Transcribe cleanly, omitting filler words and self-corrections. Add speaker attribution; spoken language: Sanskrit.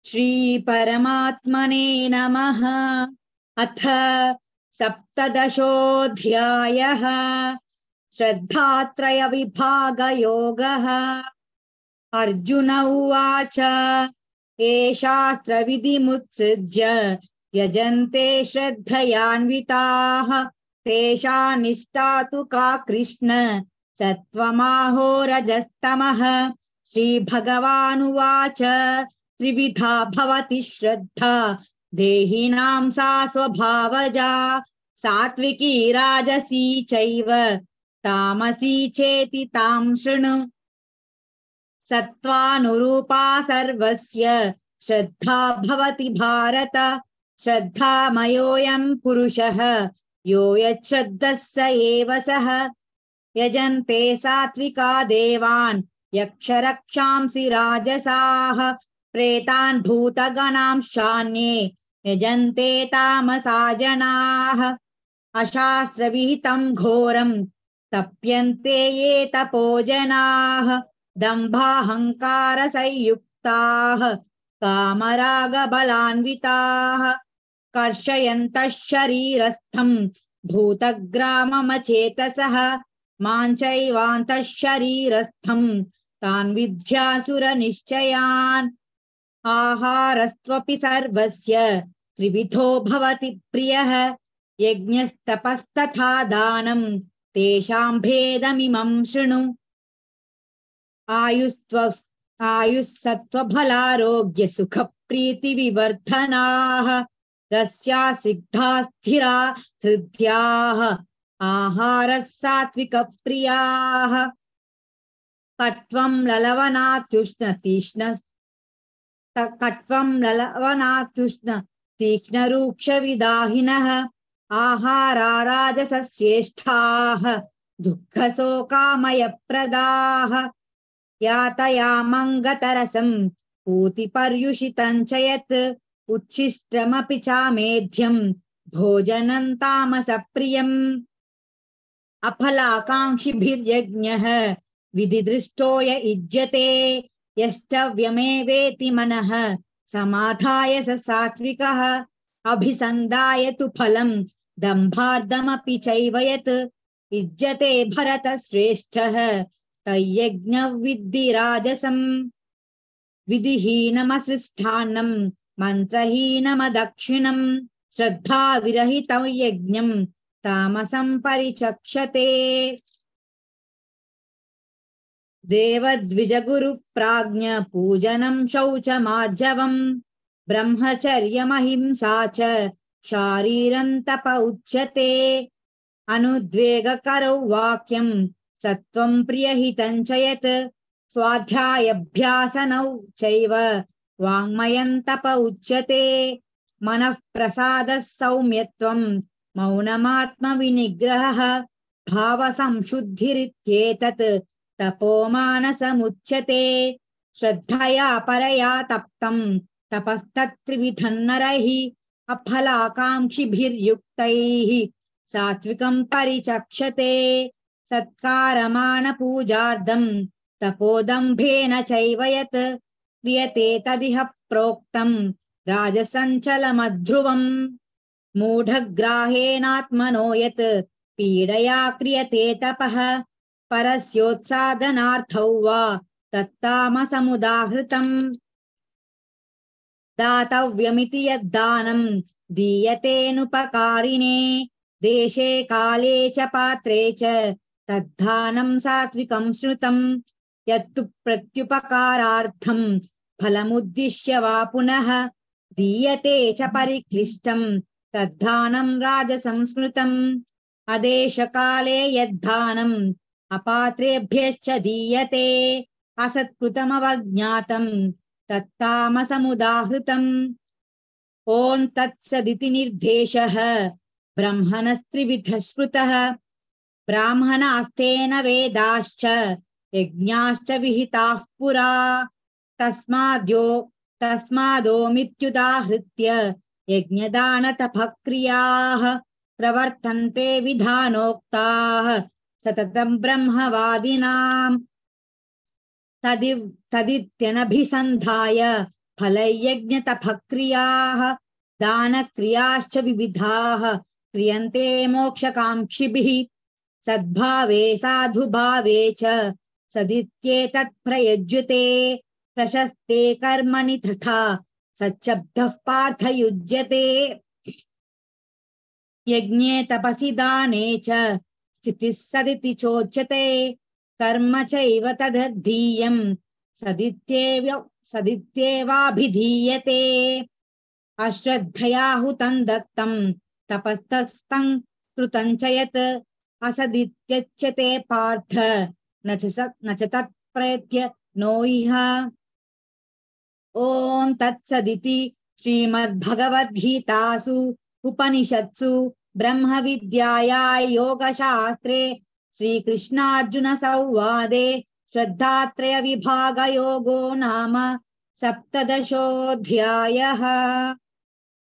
Speaker 1: श्री परमात्मने नमः। अथ सप्तदशोऽध्यायः। श्रद्धात्रय विभागयोगः। अर्जुन उवाच ये शास्त्रविधिमुत्सृज्य यजन्ते श्रद्धयान्विताः तेषां निष्ठा तु का कृष्ण सत्त्वमाहो रजस्तमः। श्रीभगवानुवाच त्रिविधा भवति श्रद्धा देहिनां सा स्वभावजा सात्विकी राजसी चैव तामसी चेति तां शृणु। सत्त्वानुरूपा सर्वस्य श्रद्धा भवति भारत। श्रद्धामयोऽयं पुरुषः यो यच्छ्रद्धः स एव सः। यजन्ते सात्विका देवान् यक्षरक्षांसि राजसाः प्रेतान् भूतगणांश्चान्ये यजन्ते तामसा जनाः। अशास्त्रविहितं घोरं तप्यन्ते ये तपो जनाः दम्भाहङ्कारसंयुक्ताः कामरागबलान्विताः कर्षयन्तः शरीरस्थं भूतग्राममचेतसः मां चैवान्तः शरीरस्थं तान् विद्यासुरनिश्चयान्। आहारस्त्वपि सर्वस्य त्रिविधो भवति प्रियः यज्ञस्तपस्तथा दानं तेषां भेदमिमं शृणु। आयुस्सत्त्वबलारोग्य सुखप्रीतिविवर्धनाः रस्या सिद्धा स्थिरा हृद्याः आहारः सात्विकप्रियाः। कट्वं ललवनात्युष्ण तीक्ष्णरूक्षविदाहिनः आहारा राजसश्रेष्ठाः दुःखशोकामयप्रदाः। यातयामङ्गतरसं पूतिपर्युषितं च यत् उच्छिष्टमपि चामेध्यं भोजनं तामसप्रियम्। अफलाकाङ्क्षिभिर्यज्ञः विधिदृष्टो य युज्यते यष्टव्यमेवेति मनः समाधाय स सात्विकः। अभिसन्धाय तु फलं दम्भार्धमपि चैव यत् युज्यते भरतश्रेष्ठः तयज्ञं विद्धि राजसम्। विधिहीनमसृष्टान्नं मन्त्रहीनमदक्षिणं श्रद्धाविरहितं यज्ञं तामसं परिचक्षते। देवद्विजगुरुप्राज्ञ पूजनं शौचमार्जवम् ब्रह्मचर्यमहिंसा च शारीरं तप उच्यते। अनुद्वेगकरौ वाक्यं सत्त्वं प्रियहितं च यत् स्वाध्यायाभ्यासनौ चैव वाङ्मयं तप उच्यते। मनः प्रसादः सौम्यत्वं मौनमात्मविनिग्रहः भावसंशुद्धिरित्येतत् तपोमानसमुच्यते। श्रद्धया परया तप्तं तपस्तत्त्रिविधं नरैः अफलाकाङ्क्षिभिर्युक्तैः सात्विकं परिचक्षते। सत्कारमानपूजार्थं तपोदम्भेन चैव यत् क्रियते तदिह प्रोक्तं राजसञ्चलमध्रुवम्। मूढग्राहेणात्मनो यत् पीडया क्रियते तपः परस्योत्सादनार्थौ वा तत्तामसमुदाहृतम्। दातव्यमिति यद्दानं दीयतेऽनुपकारिणे देशे काले च पात्रे च तद्दानं सात्विकं श्रुतं। यत्तु प्रत्युपकारार्थं फलमुद्दिश्य वा पुनः दीयते च परिक्लिष्टं तद्दानं राजसंस्मृतम्। अदेशकाले यद्दानम् अपात्रेभ्यश्च दीयते असत्कृतमवज्ञातं तत्तामसमुदाहृतम्। ॐ तत्सदिति निर्देशः ब्रह्मणस्त्रिविधः स्मृतः। ब्राह्मणास्तेन वेदाश्च यज्ञाश्च विहिताः पुरा तस्मादोमित्युदाहृत्य यज्ञदानतपक्रियाः प्रवर्तन्ते विधानोक्ताः सततं ब्रह्मवादिनाम्। तदित्यनभिसन्धाय फलयज्ञतपक्रियाः दानक्रियाश्च विविधाः क्रियन्ते मोक्षकाङ्क्षिभिः सद्भावे साधुभावे च सदित्येतत् प्रयुज्यते प्रशस्ते कर्मणि तथा सच्चब्दः पार्थ युज्यते यज्ञे तपसि दाने च स्थितिः सदिति चोच्यते कर्म चैव तदधीयम् सदित्येवाभिधीयते अश्रद्धया हुतं दत्तं तपस्तस्थं कृतं च यत् असदित्यच्यते पार्थ न च तत्प्रयत्य नो इह ॐ तत्सदिति श्रीमद्भगवद्गीतासु उपनिषत्सु ब्रह्मविद्यायां योगशास्त्रे श्रीकृष्णार्जुन संवादे श्रद्धात्रय विभागयोगो नाम सप्तदशोऽध्यायः।